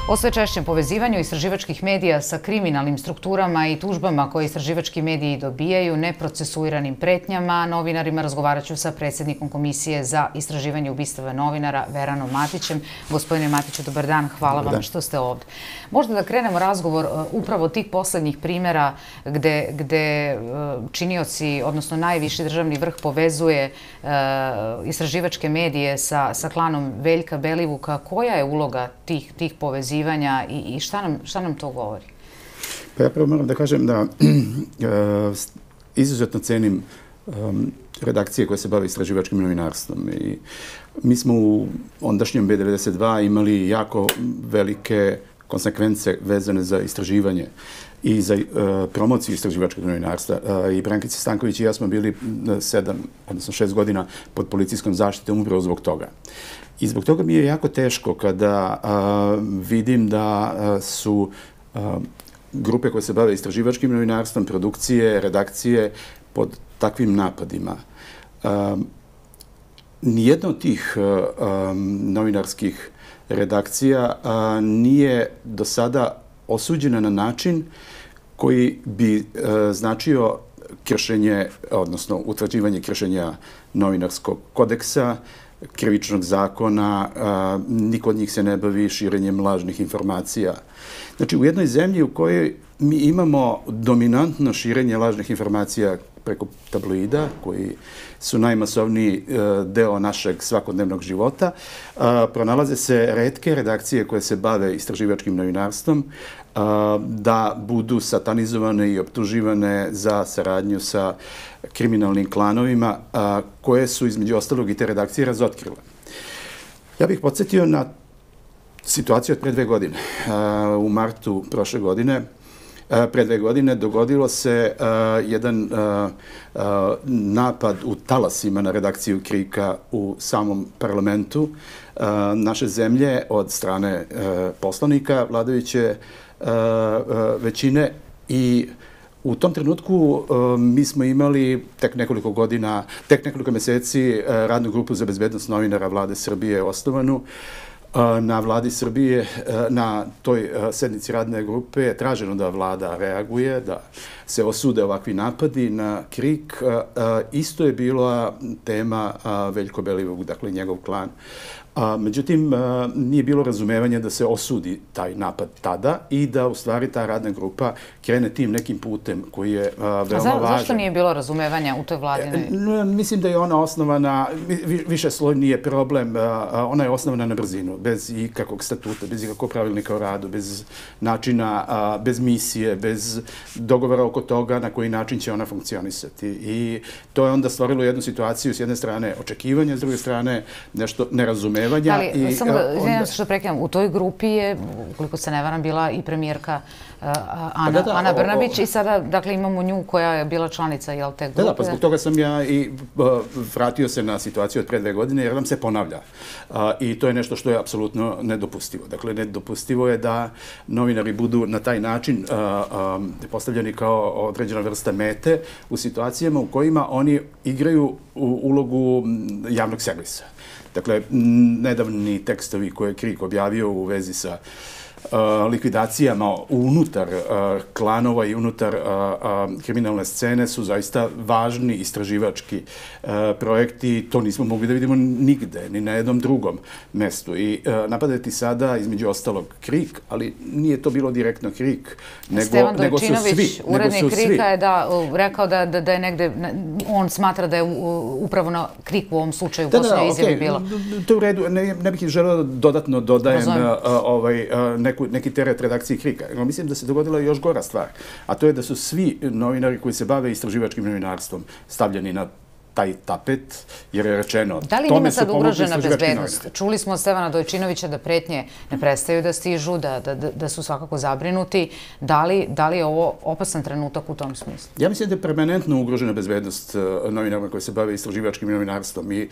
O sve češćem povezivanju istraživačkih medija sa kriminalnim strukturama i tužbama koje istraživački mediji dobijaju, neprocesuiranim pretnjama, novinarima razgovaraću sa predsjednikom Komisije za istraživanje ubistava novinara Veranom Matićem. Gospodine Matiću, dobar dan, hvala vam što ste ovdje. Možda da krenemo razgovor upravo tih posljednjih primjera gde činioci, odnosno najviši državni vrh povezuje istraživačke medije sa klanom Veljka Belivuka. Koja je uloga tih povezivanja i šta nam to govori? Pa ja prvo moram da kažem da izuzetno cenim redakcije koje se bave istraživačkim novinarstvom. I mi smo u ondašnjem B92 imali jako velike konsekvence vezane za istraživanje i za promociju istraživačkog novinarstva. I Brankica Stanković i ja smo bili 7, odnosno 6 godina pod policijskom zaštitom upravo zbog toga. I zbog toga mi je jako teško kada vidim da su grupe koje se bave istraživačkim novinarstvom, produkcije, redakcije pod takvim napadima. Nijedna od tih novinarskih redakcija nije do sada osuđena na način koji bi značio kršenje, odnosno utvrđivanje kršenja novinarskog kodeksa, krivičnog zakona, niko od njih se ne bavi širenjem lažnih informacija. Znači, u jednoj zemlji u kojoj mi imamo dominantno širenje lažnih informacija preko tabloida, koji su najmasovniji deo našeg svakodnevnog života, pronalaze se retke redakcije koje se bave istraživačkim novinarstvom, da budu satanizovane i optuživane za saradnju sa kriminalnim klanovima, koje su između ostalog i te redakcije razotkrile. Ja bih podsjetio na situaciju od pre 2 godine. U martu prošle godine, pre 2 godine, dogodilo se jedan napad u talasima na redakciju KRIK-a u samom parlamentu naše zemlje od strane poslanika vladajuće većine. I u tom trenutku mi smo imali tek nekoliko meseci radnu grupu za bezbednost novinara Vlade Srbije osnovanu. Na vladi Srbije, na toj sednici radne grupe je traženo da vlada reaguje, da se osude ovakvi napadi na KRIK. Isto je bila tema Veljko Belivuk, dakle njegov klan. Međutim, nije bilo razumevanja da se osudi taj napad tada i da u stvari ta radna grupa krene tim nekim putem koji je veoma važan. Zašto nije bilo razumevanja u toj vladinoj? Mislim da je ona osnovana, više sloj nije problem, ona je osnovana na brzinu, bez ikakvog statuta, bez ikakvog pravilnika o radu, bez načina, bez misije, bez dogovora oko toga na koji način će ona funkcionisati. I to je onda stvorilo jednu situaciju, s jedne strane očekivanja, s druge strane nešto nerazumevanja. Ali, samo da, izvinjam se što prekidam, u toj grupi je, ukoliko se ne varam, bila i premijerka Ana Brnabić i sada, dakle, imamo nju koja je bila članica, jel, te grupe? Da, pa zbog toga sam ja i vratio se na situaciju od pre 2 godine, jer nam se ponavlja. I to je nešto što je apsolutno nedopustivo. Dakle, nedopustivo je da novinari budu na taj način postavljeni kao određena vrsta mete u situacijama u kojima oni igraju ulogu javnog servisa. Dakle, nedavni tekstovi koje je KRIK objavio u vezi sa likvidacijama unutar klanova i unutar kriminalne scene su zaista važni istraživački projekti. To nismo mogli da vidimo nigde, ni na jednom drugom mestu. I napadati sada, između ostalog, KRIK, ali nije to bilo direktno KRIK, nego su svi. Stevan Dojčinović, urednik KRIK-a, je rekao da je negde, on smatra da je upravo na KRIK u ovom slučaju u posljednjoj izjavi bilo. To je u redu, ne bih želeo dodatno dodajem neki teret redakcije KRIK-a. Mislim da se dogodila još gora stvar, a to je da su svi novinari koji se bave istraživačkim novinarstvom stavljeni na taj tapet, jer je rečeno... Da li njima sad ugrožena bezbednost? Čuli smo od Stevana Dojčinovića da pretnje ne prestaju da stižu, da su svakako zabrinuti. Da li je ovo opasan trenutak u tom smislu? Ja mislim da je permanentno ugrožena bezbednost novinara koji se bave istraživačkim novinarstvom. I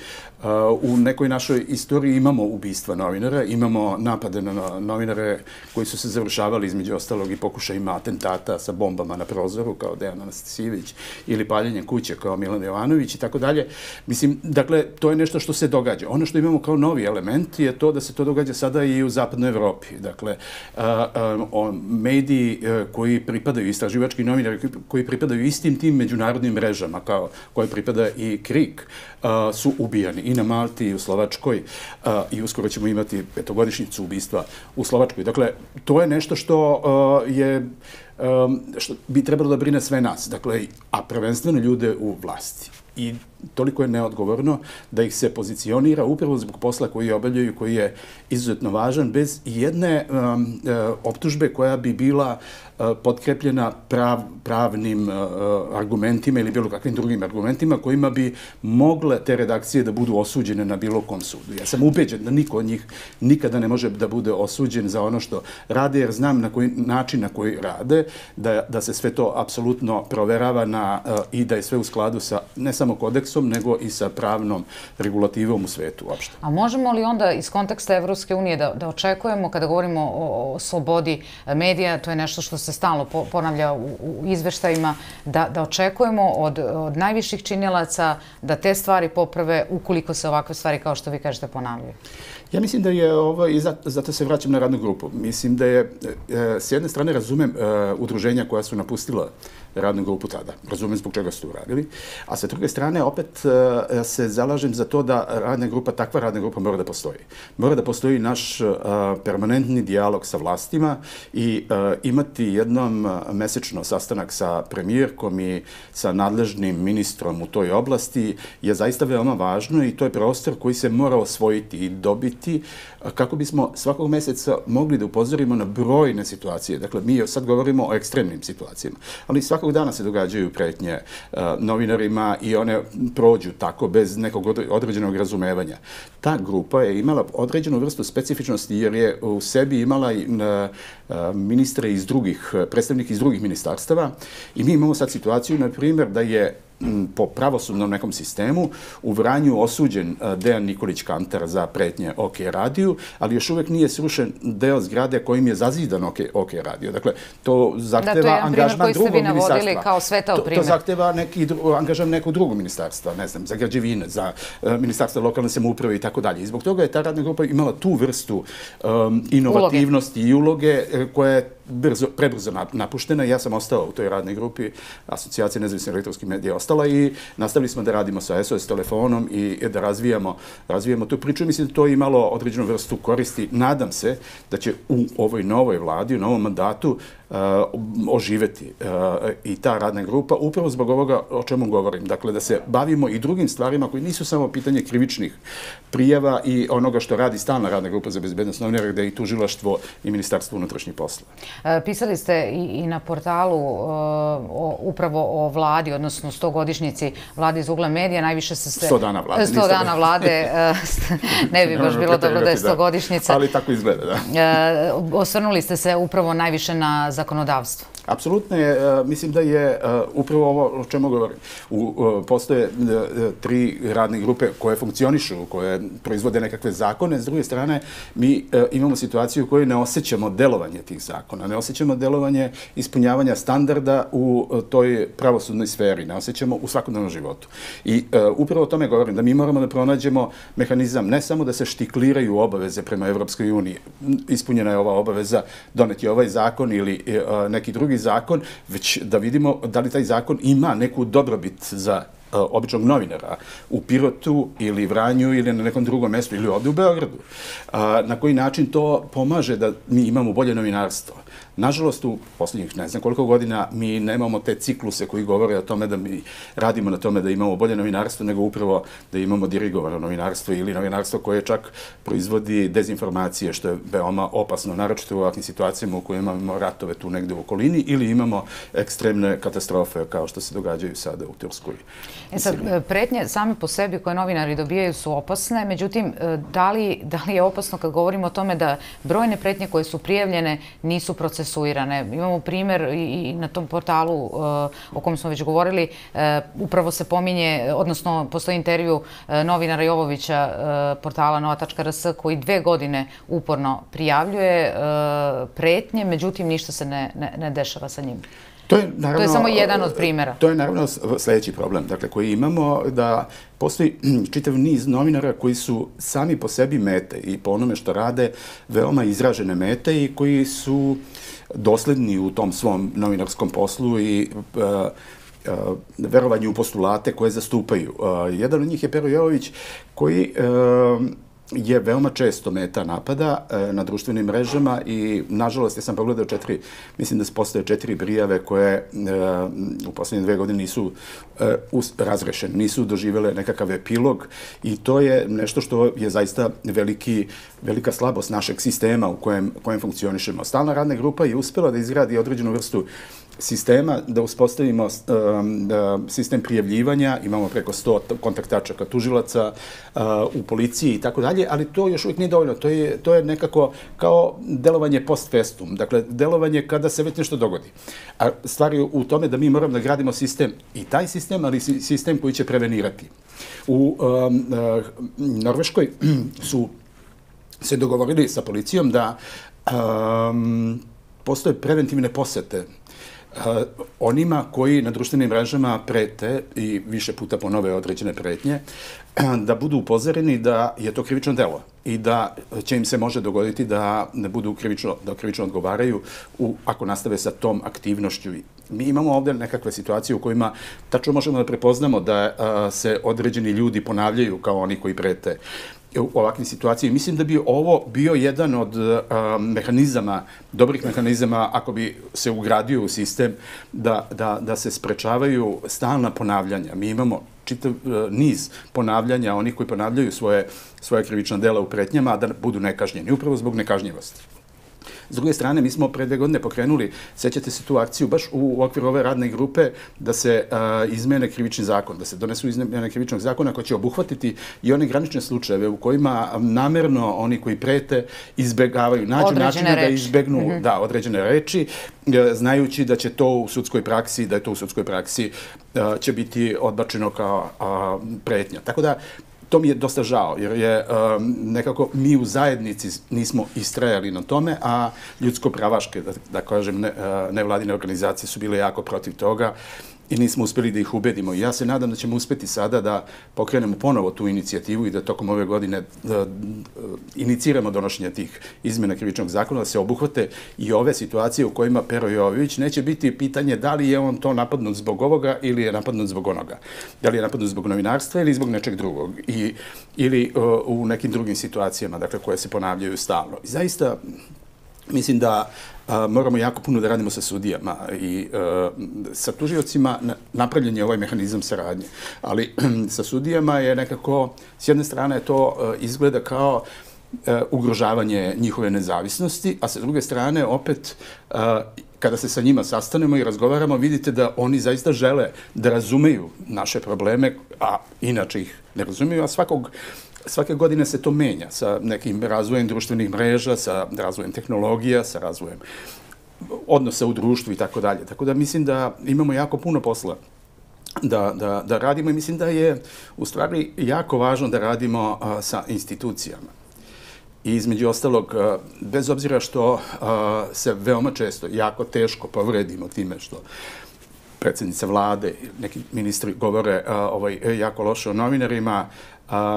u nekoj našoj istoriji imamo ubistva novinara, imamo napade na novinare koji su se završavali između ostalog i pokušajima atentata sa bombama na prozoru kao Dejan Anastasijević ili paljenje kuće kao Milan Jovanović i tako dalje. Mislim, dakle, to je nešto što se događa. Ono što imamo kao novi element je to da se to događa sada i u zapadnoj Evropi. Dakle, mediji koji pripadaju, istraživački novinari koji pripadaju istim tim međunarodnim mrežama kao koje pripada i KRIK, su ubijani i na Malti i u Slovačkoj i uskoro ćemo imati 5-godišnjicu ubistva u Slovačkoj. Dakle, to je nešto što bi trebalo da brine sve nas, dakle, a prvenstveno ljude u vlasti. I toliko je neodgovorno da ih se pozicionira upravo zbog posla koji obavljaju, koji je izuzetno važan, bez jedne optužbe koja bi bila potkrepljena pravnim argumentima ili bilo kakvim drugim argumentima kojima bi mogle te redakcije da budu osuđene na bilo kom sudu. Ja sam ubeđen da niko od njih nikada ne može da bude osuđen za ono što rade, jer znam na koji način na koji rade, da se sve to apsolutno proverava i da je sve u skladu sa ne samo kodeksom, nego i sa pravnom regulativom u svetu uopšte. A možemo li onda iz konteksta Evropske unije da očekujemo, kada govorimo o slobodi medija, to je nešto što se stalno ponavlja u izveštajima, da očekujemo od najviših činilaca da te stvari poprave ukoliko se ovakve stvari, kao što vi kažete, ponavljaju? Ja mislim da je ovo, i zato se vraćam na radnu grupu, mislim da je, s jedne strane razumem udruženja koja su napustila radnu grupu tada, razumem zbog čega su to uradili, a sa druge strane opet se zalažem za to da takva radna grupa mora da postoji. Mora da postoji naš permanentni dijalog sa vlastima i imati jednom mesečno sastanak sa premijerkom i sa nadležnim ministrom u toj oblasti je zaista veoma važno i to je prostor koji se mora osvojiti i dobiti kako bismo svakog meseca mogli da upozorimo na brojne situacije. Dakle, mi sad govorimo o ekstremnim situacijama, ali svakog dana se događaju pretnje novinarima i one prođu tako bez nekog određenog razumevanja. Ta grupa je imala određenu vrstu specifičnosti jer je u sebi imala ministre iz predstavnike iz drugih ministarstava i mi imamo sad situaciju, na primjer, da je po pravosudnom nekom sistemu u Vranju osuđen Dejan Nikolić Kantar za pretnje OK radiju, ali još uvek nije srušen deo zgrade kojim je zazidan OK radio. Dakle, to zahteva angažman drugog ministarstva. Kao svetao primjer. To zahteva angažman nekog drugog ministarstva, ne znam, za građevine, za ministarstvo lokalne samouprave i tako dalje. I zbog toga je ta radna grupa imala tu vrstu inovativnosti i uloge koja je prebrzo napuštena. Ja sam ostao u toj radnoj grupi, Asocijacija nezavisnih elektronskih medija ostala i nastavili smo da radimo sa SOS telefonom i da razvijamo tu priču. Mislim da to je imalo određenu vrstu koristi. Nadam se da će u ovoj novoj vladi, u novom mandatu oživeti i ta radna grupa upravo zbog ovoga o čemu govorim. Dakle, da se bavimo i drugim stvarima koji nisu samo pitanje krivičnih prijava i onoga što radi stalna radna grupa za bezbednost novinara, gde je i tužilaštvo i Ministarstvo unutrašnjih poslova. Pisali ste i na portalu upravo o vladi, odnosno 100-godišnjici vlade iz ugla medija, najviše se... 100 dana vlade. 100 dana vlade, ne bi baš bilo dobro da je 100-godišnjica. Ali tako izgleda, da. Osvrnuli ste se upravo najviše na zakonodavstvo. Apsolutno je, mislim da je upravo ovo o čemu govorim. Postoje 3 radne grupe koje funkcionišu, koje proizvode nekakve zakone. S druge strane, mi imamo situaciju u kojoj ne osjećamo delovanje tih zakona, ne osjećamo delovanje ispunjavanja standarda u toj pravosudnoj sferi, ne osjećamo u svakodnevnom životu. I upravo o tome govorim, da mi moramo da pronađemo mehanizam, ne samo da se štikliraju obaveze prema Evropskoj uniji, ispunjena je ova obaveza, doneti ovaj zakon ili neki drugi zakon, već da vidimo da li taj zakon ima neku dobrobit za običnog novinara u Pirotu ili Vranju ili na nekom drugom mestu ili ovdje u Beogradu. Na koji način to pomaže da mi imamo bolje novinarstvo. Nažalost, u posljednjih ne znam koliko godina mi nemamo te cikluse koji govore o tome da mi radimo na tome da imamo bolje novinarstvo, nego upravo da imamo dirigovano novinarstvo ili novinarstvo koje čak proizvodi dezinformacije, što je veoma opasno, naročito u ovakvim situacijama u kojima imamo ratove tu negde u okolini ili imamo ekstremne katastrofe kao što se događaju sada u Turskoj. Sad, pretnje same po sebi koje novinari dobijaju su opasne, međutim, da li je opasno kad govorimo o tome da brojne pretnje koje su prijavljene nisu procesuirane? Imamo primjer i na tom portalu o kom smo već govorili, upravo se pominje, odnosno postoji intervju novinara Jovovića portala nova.rs koji 2 godine uporno prijavljuje pretnje, međutim ništa se ne dešava sa njim. To je samo jedan od primjera. To je naravno sljedeći problem, dakle, koji imamo, da postoji čitav niz novinara koji su sami po sebi mete i po onome što rade veoma izražene mete i koji su dosledni u tom svom novinarskom poslu i verovanju u postulate koje zastupaju. Jedan od njih je Pero Jovović, koji je veoma često meta napada na društvenim mrežama i, nažalost, ja sam pogledao mislim da se postoje 4 prijave koje u posljednje 2 godine nisu razrešene, nisu doživjele nekakav epilog i to je nešto što je zaista velika slabost našeg sistema u kojem funkcionišemo. Stalna radna grupa je uspjela da izgradi određenu vrstu sistema, da uspostavimo sistem prijavljivanja, imamo preko 100 kontakt tačaka tužilaca u policiji i tako dalje, ali to još uvijek nije dovoljno. To je nekako kao delovanje post festum, dakle, delovanje kada se već nešto dogodi. A stvar je u tome da mi moramo da gradimo sistem, i taj sistem, ali sistem koji će prevenirati. U Norveškoj su se dogovorili sa policijom da postoje preventivne posete onima koji na društvenim mrežama prete i više puta ponove određene pretnje, da budu upozoreni da je to krivično delo i da će im se može dogoditi da krivično odgovaraju ako nastave sa tom aktivnošću. Mi imamo ovdje nekakve situacije u kojima tačno možemo da prepoznamo da se određeni ljudi ponavljaju kao oni koji prete u ovakvim situacijama. Mislim da bi ovo bio jedan od mehanizama, dobrih mehanizama, ako bi se ugradio u sistem, da se sprečavaju stalna ponavljanja. Mi imamo čitav niz ponavljanja, oni koji ponavljaju svoje krivična dela u pretnjama, a da budu nekažnjeni, upravo zbog nekažnjivosti. S druge strane, mi smo pre 2 godine pokrenuli, sećate se tu akciju, baš u okviru ove radne grupe, da se izmene krivični zakon, da se donesu izmene krivičnog zakona koji će obuhvatiti i one granične slučajeve u kojima namerno oni koji prete izbjegavaju, nađu načine da izbjegnu određene reči, znajući da će to u sudskoj praksi, će biti odbačeno kao pretnja. Tako da, to mi je dosta žao, jer je nekako mi u zajednici nismo istrajali na tome, a ljudsko-pravaške, da kažem, nevladine organizacije su bile jako protiv toga i nismo uspjeli da ih ubedimo. Ja se nadam da ćemo uspjeti sada da pokrenemo ponovo tu inicijativu i da tokom ove godine iniciramo donošenje tih izmjena krivičnog zakona, da se obuhvate i ove situacije u kojima Pero Jovović neće biti pitanje da li je on to napadnut zbog ovoga ili je napadnut zbog onoga. Da li je napadnut zbog novinarstva ili zbog nečeg drugog. Ili u nekim drugim situacijama, dakle, koje se ponavljaju stalno. I zaista, mislim da moramo jako puno da radimo sa sudijama i sa tužiocima. Napravljen je ovaj mehanizam saradnje, ali sa sudijama je nekako, s jedne strane to izgleda kao ugrožavanje njihove nezavisnosti, a sa druge strane opet kada se sa njima sastanemo i razgovaramo, vidite da oni zaista žele da razumeju naše probleme, a inače ih ne razumeju, a svake godine se to menja sa nekim razvojem društvenih mreža, sa razvojem tehnologija, sa razvojem odnosa u društvu i tako dalje. Tako da mislim da imamo jako puno posla da radimo i mislim da je u stvari jako važno da radimo sa institucijama. I između ostalog, bez obzira što se veoma često jako teško povredimo time što predsjednica vlade, neki ministri govore jako loše o novinarima,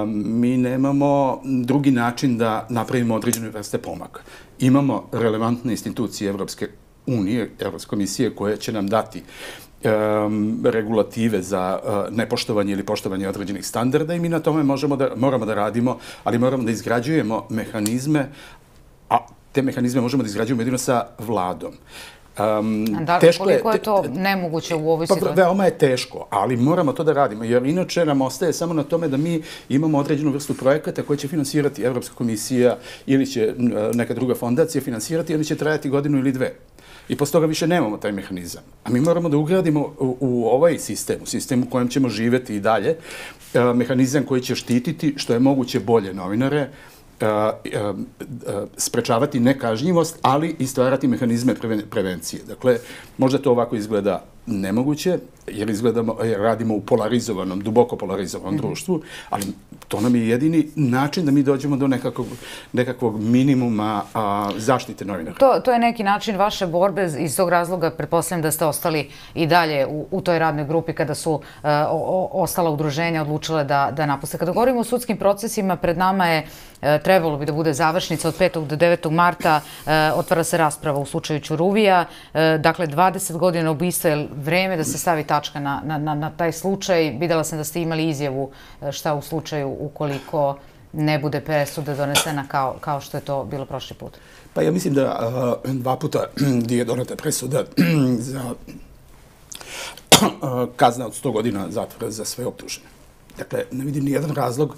mi nemamo drugi način da napravimo određene vrste pomaka. Imamo relevantne institucije Evropske unije, Evropske komisije, koje će nam dati regulative za nepoštovanje ili poštovanje određenih standarda i mi na tome moramo da radimo, ali moramo da izgrađujemo mehanizme, a te mehanizme možemo da izgrađujemo jedino sa vladom. Koliko je to nemoguće u ovoj situaciji? Veoma je teško, ali moramo to da radimo, jer inače nam ostaje samo na tome da mi imamo određenu vrstu projekata koje će finansirati Evropska komisija ili će neka druga fondacija finansirati, ili će trajati 1 ili 2 godine. I posle toga više nemamo taj mehanizam. A mi moramo da ugradimo u ovaj sistem, u sistem u kojem ćemo živeti i dalje, mehanizam koji će štititi što je moguće bolje novinare, sprečavati nekažnjivost, ali i stvarati mehanizme prevencije. Dakle, možda to ovako izgleda nemoguće, jer radimo u polarizovanom, duboko polarizovanom društvu, ali to nam je jedini način da mi dođemo do nekakvog minimuma zaštite novinara. To je neki način vaše borbe, iz tog razloga pretpostavljam da ste ostali i dalje u toj radnoj grupi kada su ostala udruženja odlučile da napuste. Kada govorimo o sudskim procesima, pred nama je, trebalo bi da bude završnica od 5. do 9. marta, otvara se rasprava u slučaju Ćuruvija. Dakle, 20 godina ubistva je vreme da se stavi tačka na taj slučaj. Videla sam da ste imali izjavu šta u slučaju ukoliko ne bude presuda donesena kao što je to bilo prošli put. Pa ja mislim da 2 puta je doneta presuda za kazna od 100 godina zatvora za sve optužene. Dakle, ne vidim ni jedan razlog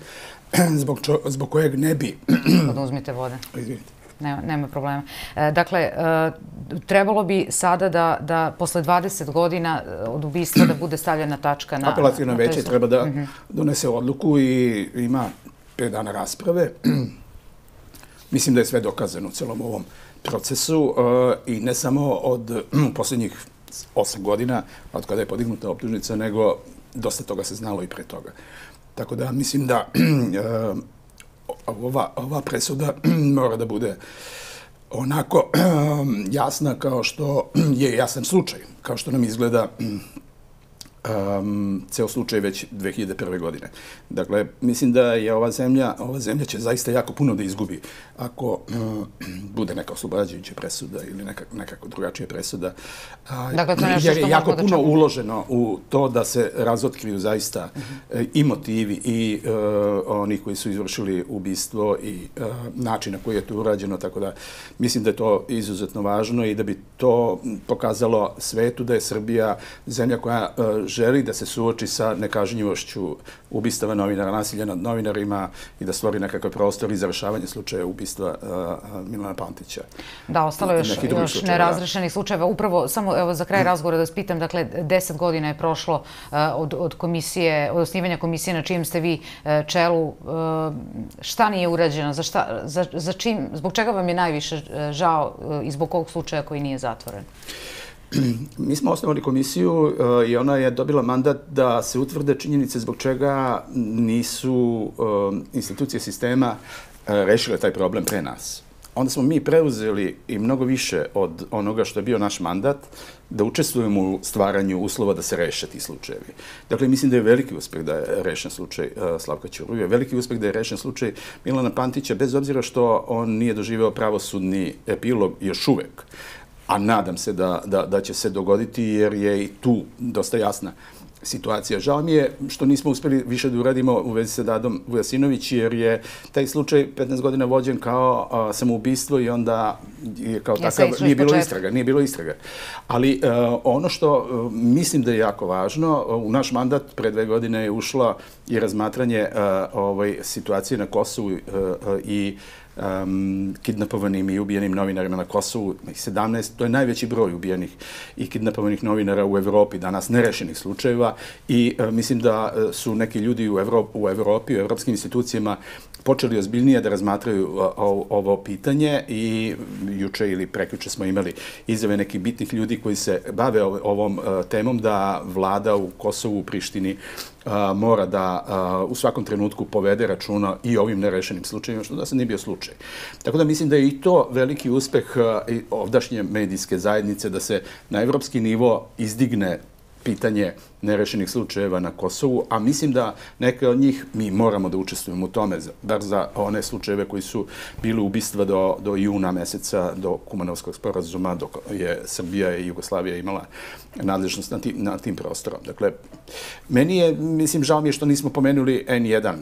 zbog kojeg ne bi... Oduzmite vode. Izvinite. Nema problema. Dakle, trebalo bi sada da posle 20 godina od ubistva da bude stavljena tačka na... Apelacijno veće treba da donese odluku i ima 5 dana rasprave. Mislim da je sve dokazano u celom ovom procesu i ne samo od posljednjih 8 godina od kada je podignuta optužnica, nego dosta toga se znalo i pre toga. Tako da mislim da ova presuda mora da bude onako jasna kao što je jasan slučaj, kao što nam izgleda ceo slučaj već 2001. godine. Dakle, mislim da je ova zemlja će zaista jako puno da izgubi ako bude neka oslobađajuća presuda ili nekako drugačija presuda. Jer je jako puno uloženo u to da se razotkriju zaista i motivi i oni koji su izvršili ubistvo i način na koji je to urađeno, tako da mislim da je to izuzetno važno i da bi to pokazalo svetu da je Srbija zemlja koja želi da se suoči sa nekažnjivošću ubistava novinara, nasilja nad novinarima i da stvori nekakav prostor i završavanje slučaja ubistva Milana Pantića. Da, ostalo je još nerazrešenih slučajeva. Upravo, samo za kraj razgovora da vas pitam, dakle, 10 godina je prošlo od osnivanja komisije na čijem ste vi čelu. Šta nije urađeno? Zbog čega vam je najviše žao i zbog ovog slučaja koji nije zatvoren? Mi smo osnovali komisiju i ona je dobila mandat da se utvrde činjenice zbog čega nisu institucije sistema rešile taj problem pre nas. Onda smo mi preuzeli i mnogo više od onoga što je bio naš mandat da učestvujemo u stvaranju uslova da se reše ti slučajevi. Dakle, mislim da je veliki uspeh da je rešen slučaj Slavka Ćuruvija, veliki uspeh da je rešen slučaj Milana Pantića, bez obzira što on nije doživeo pravosudni epilog još uvek. A nadam se da će se dogoditi jer je i tu dosta jasna situacija. Žao mi je što nismo uspeli više da uradimo u vezi sa Dadom Vujasinović jer je taj slučaj 15 godina vođen kao samoubistvo i onda kao takav nije bilo istraga. Ali ono što mislim da je jako važno, u naš mandat pre 2 godine je ušla i razmatranje situacije na Kosovu i kidnapovanim i ubijenim novinarima na Kosovu, 17, to je najveći broj ubijenih i kidnapovanih novinara u Evropi, danas nerešenih slučajeva i mislim da su neki ljudi u Evropi, u evropskim institucijama počeli ozbiljnije da razmatraju ovo pitanje i juče ili prekjuče smo imali izjave nekih bitnih ljudi koji se bave ovom temom da vlada u Kosovu, u Prištini mora da u svakom trenutku povede računa i ovim nerešenim slučajima, što da se nije bio slučaj. Tako da mislim da je i to veliki uspeh ovdašnje medijske zajednice da se na evropski nivo izdigne pitanje nerešenih slučajeva na Kosovu, a mislim da neke od njih mi moramo da učestvujemo u tome, bar za one slučajeve koji su bili ubistva do juna meseca, do Kumanovskog sporazuma, dok je Srbija i Jugoslavija imala nadležnost nad tim prostorom. Dakle, meni je, mislim, žao mi je što nismo pomenuli N1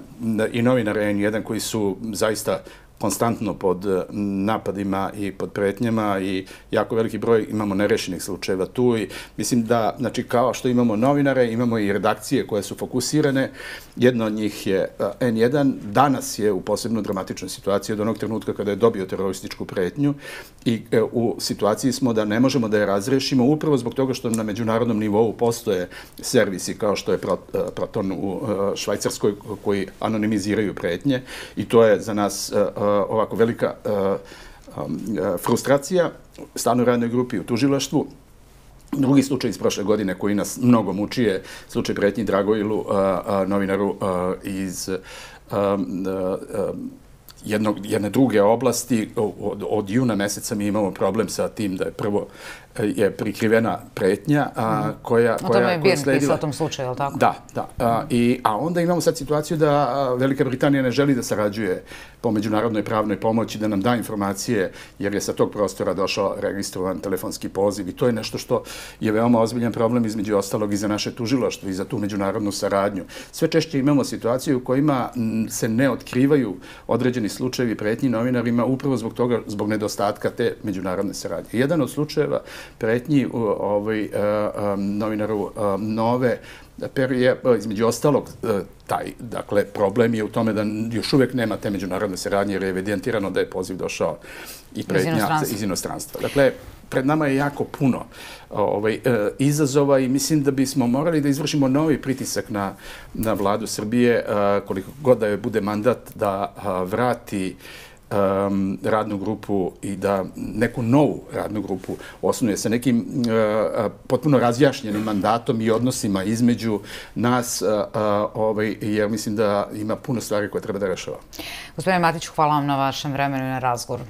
i novinare N1 koji su zaista konstantno pod napadima i pod pretnjama i jako veliki broj imamo nerešenih slučajeva tu i mislim da, znači, kao što imamo novinare, imamo i redakcije koje su fokusirane. Jedna od njih je N1. Danas je u posebno dramatičnoj situaciji od onog trenutka kada je dobio terorističku pretnju i u situaciji smo da ne možemo da je razrešimo upravo zbog toga što na međunarodnom nivou postoje servisi kao što je Proton u Švajcarskoj koji anonimiziraju pretnje i to je za nas ovako velika frustracija, stalnoj radnoj grupi u tužilaštvu Drugi slučaj iz prošle godine koji nas mnogo muči je slučaj pretnji Dragoilu, novinaru iz jedne druge oblasti. Od juna meseca mi imamo problem sa tim da je prvo je prikrivena pretnja koja sledila. O tome je Birn pisao o tom slučaju, je li tako? Da, da. A onda imamo sad situaciju da Velika Britanija ne želi da sarađuje po međunarodnoj pravnoj pomoći, da nam da informacije, jer je sa tog prostora došao registrovan telefonski poziv i to je nešto što je veoma ozbiljan problem između ostalog i za naše tužilaštvo i za tu međunarodnu saradnju. Sve češće imamo situaciju u kojima se ne otkrivaju određeni slučajevi pretnji novinarima upravo zbog toga, zbog nedostatka te međunarodne saradnje. Jedan od slučajeva pretnji novinaru Nove je, između ostalog, taj, dakle, problem je u tome da još uvijek nema te međunarodne saradnje jer je evidentirano da je poziv došao i pretnja iz inostranstva. Dakle, pred nama je jako puno izazova i mislim da bismo morali da izvršimo novi pritisak na vladu Srbije, koliko god da joj bude mandat da vrati radnu grupu i da neku novu radnu grupu osnuje sa nekim potpuno razjašnjenim mandatom i odnosima između nas, jer mislim da ima puno stvari koje treba da rešava. Gospodine Matiću, hvala vam na vašem vremenu i na razgovoru.